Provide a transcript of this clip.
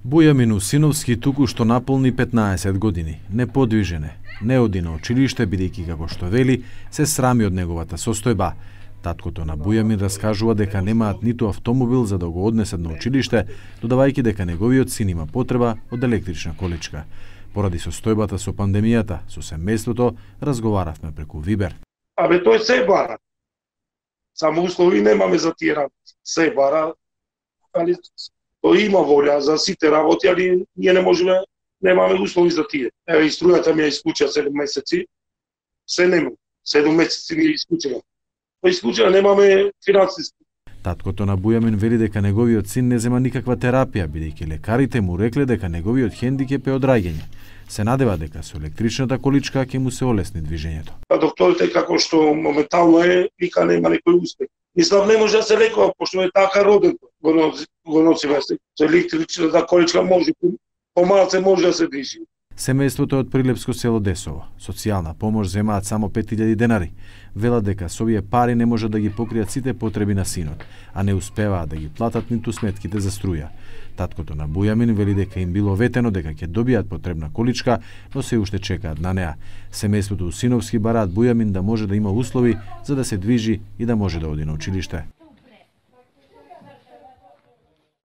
Бујамин Усиновски туку што наполни 15 години. Неподвижен е, не оди на училиште, бидејќи како што вели, се срами од неговата состојба. Таткото на Бујамин раскажува дека немаат ниту автомобил за да го однесат на училиште, додавајќи дека неговиот син има потреба од електрична количка. Поради состојбата со пандемијата, со семејството, разговаравме преку Вибер. Тој се бара. Само услови немаме за тие работи. Се бара, али тој има волја за сите работи, али ние не можеме, немаме услови за тие. Еве, и струјата ми ја исклучила 7 месеци, се нема. 7 месеци ми ја исклучила. Исклучила, немаме финансиски. Таткото на Бујамин вели дека неговиот син не зема никаква терапија, бидејќи лекарите му рекле дека неговиот хендикеп е од раѓање. Се надева дека со електричната количка ќе му се олесни движењето. Докторите како што моментално е, вика нема некој успех. Мислам не може да се лекува, пошто е така роден, го носиме се. Со електричната количка може, помалце може да се движи. Семејството од прилепско село Десово. Социјална помош земаат само 5000 денари. Велат дека со овие пари не може да ги покријат сите потреби на синот, а не успеваат да ги платат ниту сметките за струја. Таткото на Бујамин вели дека им било ветено дека ќе добијат потребна количка, но се уште чекаат на неа. Семејството Усиновски бараат Бујамин да може да има услови за да се движи и да може да оди на училиште.